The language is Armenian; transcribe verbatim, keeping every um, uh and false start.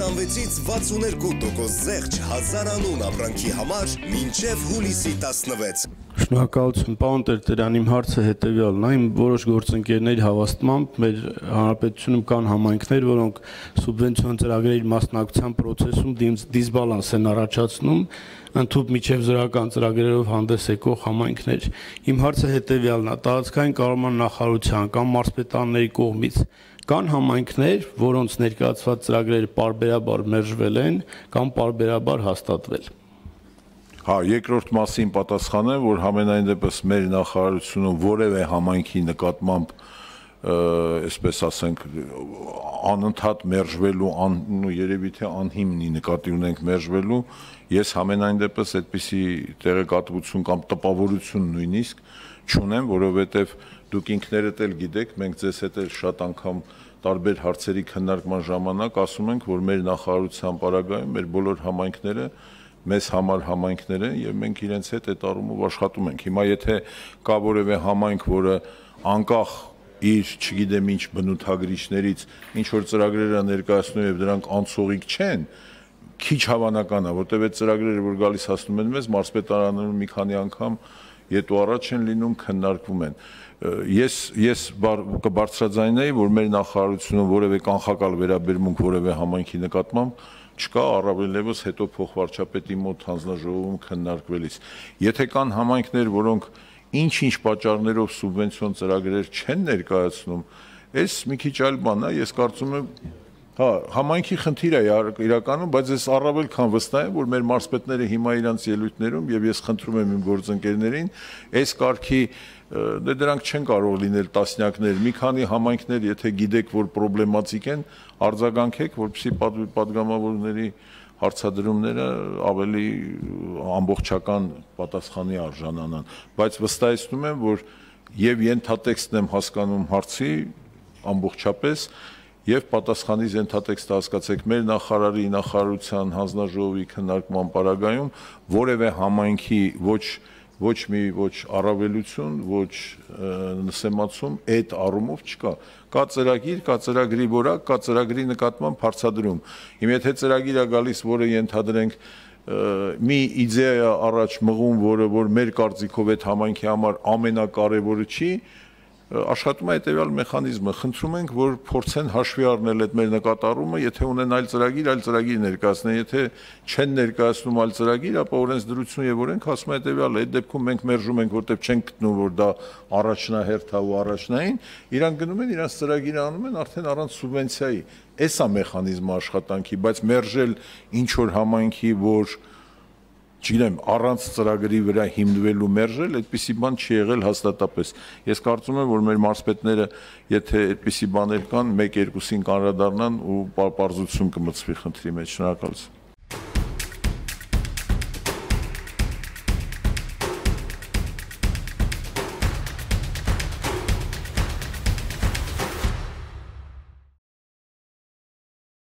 քսանվեցից վաթսուներկու տոկոս զեղչ հազար անուն ապրանքի համար մինչև հուլիսի տասնվեց։ Շնորհակալություն, պարոն Տերտերյան, իմ հարցը հետևյալն է, իմ որոշ գործընկերների հավաստմամբ մեր հանրապետությունում կան համայնքներ, որոնք սուբվենցիոն ծրագրերի մասնակցության process-ում դիսբալանս են առաջացնում, ընդհանուր միջև զորական ծրագրերով հանդես եկող համայնքներ։ Իմ հարցը հետևյալն է, տարածքային կառավարման նախարարության կամ մարզպետանների կողմից կան համայնքներ, որոնց ներկայացված ծրագրերը պարբերաբար մերժվել են կամ պարբերաբար հաստատվել։ Հա, երկրորդ մասին պատասխանեմ, որ համենայն դեպս մեր նախարարությունում որևէ համայնքի նկատմամբ, այսպես ասենք, անընդհատ մերժվելու, երևի թե անհիմնի նկատի ունենք մերժվելու, ես համենայն դեպս այդպիսի տեղեկատվություն կամ տպավորություն նույնիսկ չունեմ, որովհետև դուք ինքներդ էլ գիտեք, մենք ձեզ հետ էլ շատ անգամ տարբեր հարցերի քննարկման ժամանակ ասում ենք, որ մեր նախարարության պարագայում մեր բոլոր համայնքները մեզ համար համայնքներ են եւ մենք իրենց հետ այդ առումով աշխատում ենք։ Հիմա եթե կա որևէ համայնք, որը անկախ իր, չգիտեմ ինչ բնութագրիչներից ինչ որ ծրագրերը ներկայացնում եւ դրանք անցողիկ չեն, քիչ հավանական է, որտեղ այդ ծրագրերը, որ գալիս հասնում են մեզ, մարզպետարանում մի քանի անգամ ետո առաջ են լինում, քննարկվում են։ Ես ես կբարձրաձայնեի, որ մեր նախարարությունում որևէ կանխակալ վերաբերմունք որևէ համայնքի նկատմամբ չկա, առավելևս հետո փոխվարչապետի մոտ հանձնաժողովում քննարկվելիս։ Եթե կան համայնքներ, որոնք ինչ-ինչ պատճառներով սուբվենցիոն ծրագրեր չեն ներկայացնում, այս մի քիչ այլ բան է, ես կարծում եմ, հա, համայնքի խնդիր է իրականում, բայց ես առավել քան վստահ եմ, որ մեր մարզպետները հիմա իրանց ելույթներում եւ ես խնդրում եմ իմ գործընկերներին, այս կարգի դե դրանք չեն կարող լինել տասնյակներ, մի քանի համայնքներ, եթե գիտեք, որ պրոբլեմատիկ են, արձագանքեք, որպեսզի պատգամավորների հարցադրումները ավելի ամբողջական պատասխանի արժանանան, բայց վստահեցնում եմ, որ եւ ենթատեքստն եմ հասկանում հարցի ամբողջապես եւ պատասխանից ենթատեքստը հասկացեք մեր նախարարի նախարարության հանձնաժողովի քննարկման պարագայում որևէ համայնքի ոչ ոչ մի ոչ առավելություն, ոչ նսեմացում այդ առումով չկա։ Կա ծրագիր, կա ծրագրի որակ, կա ծրագրի նկատմամբ հարցադրում։ Հիմա եթե ծրագիր է գալիս, որը ենթադրենք մի իդեա առաջ մղում, որը որ մեր կարծիքով այդ համայնքի համար ամենակարևորը չի, աշխատում է հետևյալ մեխանիզմը, խնդրում ենք, որ փորձեն հաշվի առնել այդ մեր նկատառումը, եթե ունեն այլ ծրագիր, այլ ծրագիր ներկայացնեն, եթե չեն ներկայացնում այլ ծրագիր, ապա օրենսդրություն եւ օրենք ասում է հետևյալը, այդ դեպքում մենք մերժում ենք, որտեղ չենք գտնում, որ դա առաջնահերթ է ու առաջնային, իրանք գնում են, իրանք ծրագիրը անում են արդեն առանց սուբվենցիայի։ Էս է մեխանիզմը աշխատանքի, բայց մերժել ինչ որ համայնքի, որ չգիտեմ, առանց ծրագրի վրա հիմնվելու մերժել, այդպիսի բան չի եղել հաստատապես։ Ես կարծում եմ, որ մեր մարզպետները, եթե այդպիսի բաներ կան, մեկ երկուսին կանրադառնան ու պարզություն կմտցվի խնդրի մեջ։ Շնորհակալություն։